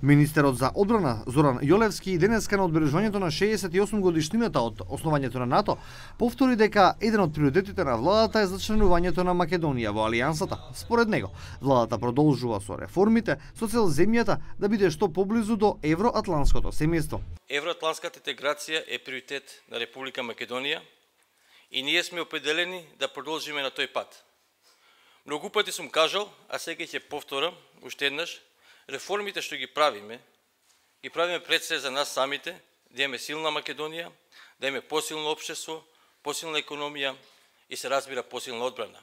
Министерот за одбрана Зоран Јолевски денеска на одбележувањето на 68 годишнината од основањето на НАТО повтори дека еден од приоритетите на владата е зачленувањето на Македонија во Алијансата. Според него, владата продолжува со реформите со цел земјата да биде што поблизу до евроатланското семејство. Евроатланската интеграција е приоритет на Република Македонија и ние сме определени да продолжиме на тој пат. Многу пати сум кажал, а сега ќе повторам уште еднаш, реформите што ги правиме пред се за нас самите, да имаме силна Македонија, да имаме посилно општество, посилна економија и се разбира посилна одбрана.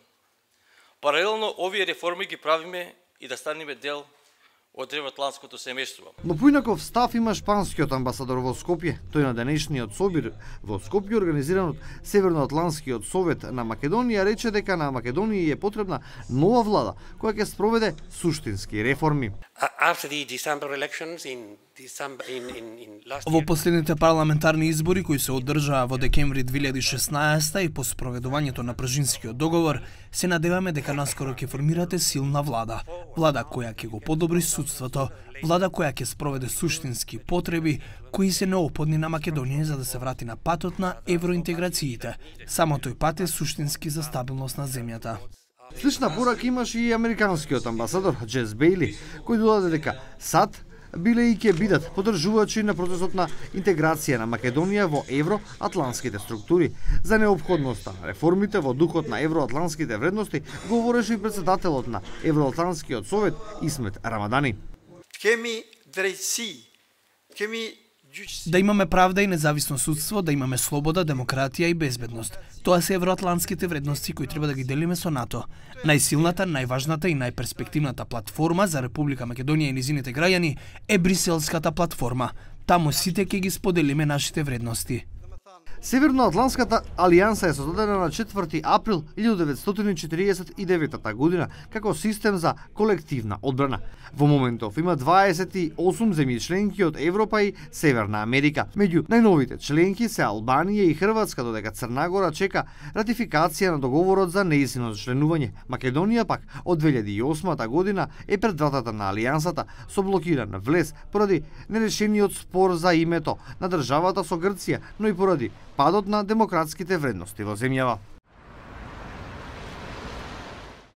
Паралелно овие реформи ги правиме и да станеме дел од евроатланското семејство. Но поинаков став има шпанскиот амбасадор во Скопје. Тој на денешниот собир во Скопје организиран од Северноатланскиот совет на Македонија рече дека на Македонија е потребна нова влада која ќе спроведе суштински реформи. Во последните парламентарни избори кои се одржаа во декември 2016 и по спроведувањето на Пржинскиот договор, се надеваме дека наскоро ќе формирате силна влада. Влада која ќе го подобри судството, влада која ќе спроведе суштински потреби кои се неопходни на Македонија за да се врати на патот на евроинтеграциите. Само тој пат е суштински за стабилност на земјата. Слична порака имаше и американскиот амбасадор Джес Бејли, кој додаде дека САД биле и ќе бидат поддржувачи на процесот на интеграција на Македонија во евроатланските структури. За неопходноста на реформите во духот на евроатланските вредности говореше и председателот на Евроатланскиот совет Исмет Рамадани. Да имаме правда и независно судство, да имаме слобода, демократија и безбедност. Тоа се евроатланските вредности кои треба да ги делиме со НАТО. Најсилната, најважната и најперспективната платформа за Република Македонија и низините граѓани е Бриселската платформа. Таму сите ќе ги споделиме нашите вредности. Северноатланската алијанса е создадена на 4 април 1949 година како систем за колективна одбрана. Во моментов има 28 земји членки од Европа и Северна Америка. Меѓу најновите членки се Албанија и Хрватска, додека Црна Гора чека ратификација на договорот за нејзино членување. Македонија пак од 2008 година е пред вратата на алијансата со блокиран влез поради нерешениот спор за името на државата со Грција, но и поради падот на демократските вредности во земјава.